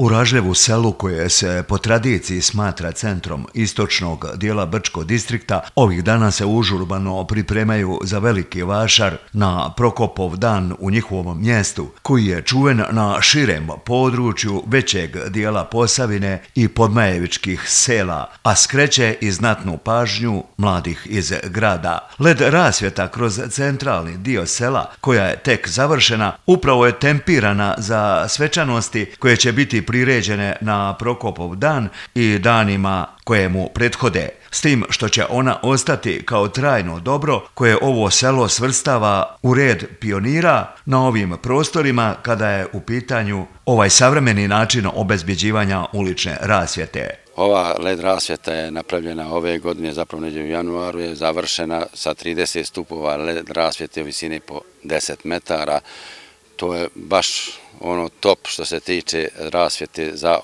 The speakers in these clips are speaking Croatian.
U Ražljevu selu, koje se po tradiciji smatra centrom istočnog dijela Brčkog distrikta, ovih dana se užurbano pripremaju za veliki vašar na Prokopov dan u njihovom mjestu, koji je čuven na širem području većeg dijela Posavine i podmajevičkih sela, a skreće i znatnu pažnju mladih iz grada. Led rasvjeta kroz centralni dio sela, koja je tek završena, upravo je tempirana za svečanosti koje će biti priređene na Prokopov dan i danima koje mu prethode, s tim što će ona ostati kao trajno dobro koje ovo selo svrstava u red pionira na ovim prostorima kada je u pitanju ovaj savremeni način obezbjeđivanja ulične rasvjete. Ova led rasvjeta je napravljena ove godine, zapravo negdje u januaru je završena sa 30 stupova led rasvjete u visini po 10 metara. To je baš ono top što se tiče rasvjete za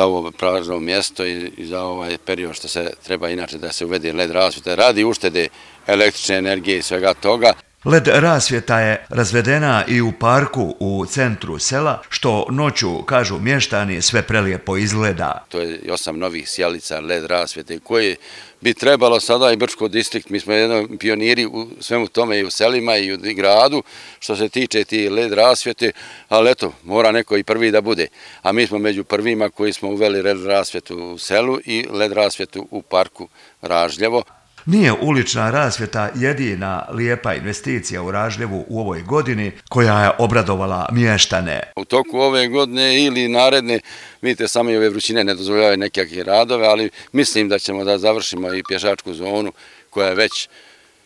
ovo prazno mjesto i za ovaj period što se treba inače da se uvede led rasvjeta radi uštede električne energije i svega toga. Led rasvjeta je razvedena i u parku u centru sela, što noću, kažu mještani, sve prelijepo izgleda. To je 8 novih sjelica led rasvjete koje bi trebalo sada i Brčko distrikt. Mi smo jedan pioniri u svemu tome i u selima i u gradu što se tiče ti led rasvjete, ali eto, mora neko i prvi da bude. A mi smo među prvima koji smo uveli led rasvjetu u selu i led rasvjetu u parku Ražljevo. Nije ulična rasvjeta jedina lijepa investicija u Ražljevu u ovoj godini koja je obradovala mještane. U toku ove godine ili naredne, vidite, same ove vrućine ne dozvoljavaju nekakve radove, ali mislim da ćemo da završimo i pješačku zonu koja je već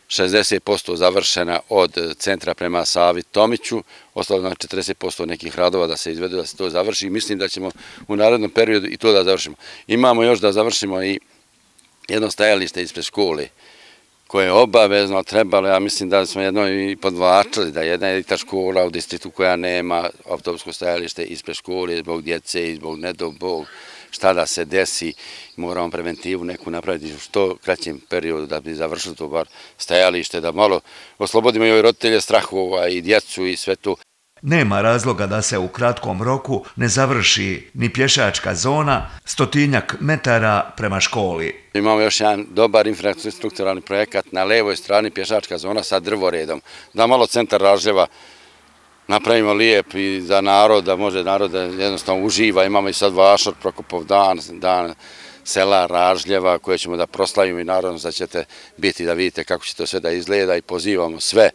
60% završena od centra prema Savi Tomiću, ostalo na 40% nekih radova da se izvedu, da se to završi. Mislim da ćemo u narednom periodu i to da završimo. Imamo još da završimo i jedno stajalište ispred škole koje je obavezno trebalo, ja mislim da smo jedno i podvlačili, da jedna je ta škola u distriktu koja nema autobusko stajalište ispred škole zbog djece i zbog ne dao Bog šta da se desi, moramo preventivu neku napraviti u što kraćem periodu da bi završili to bar stajalište, da malo oslobodimo i roditelje strahova i djecu i sve to. Nema razloga da se u kratkom roku ne završi ni pješačka zona 100 metara prema školi. Imamo još jedan dobar infrastrukturalni projekat na levoj strani pješačka zona sa drvoredom, da malo centar Ražljeva napravimo lijep i za narod, da može narod da jednostavno uživa. Imamo i sad vašar Prokopov dan sela Ražljeva koje ćemo da proslavimo i naravno da ćete biti da vidite kako će to sve da izgleda i pozivamo sve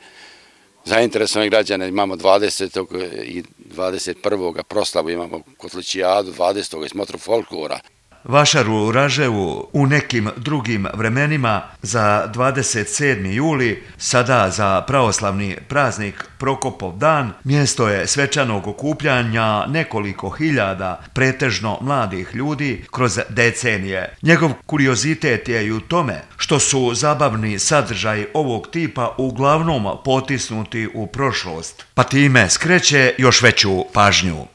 zainteresovane građane. Imamo 20. i 21. proslavu, imamo Kotličijadu, 20. i smotru folklora. Vašar u Ražljevu u nekim drugim vremenima za 27. juli, sada za pravoslavni praznik Prokopov dan, mjesto je svečanog okupljanja nekoliko hiljada pretežno mladih ljudi kroz decenije. Njegov kuriozitet je i u tome što su zabavni sadržaji ovog tipa uglavnom potisnuti u prošlost, pa time skreće još veću pažnju.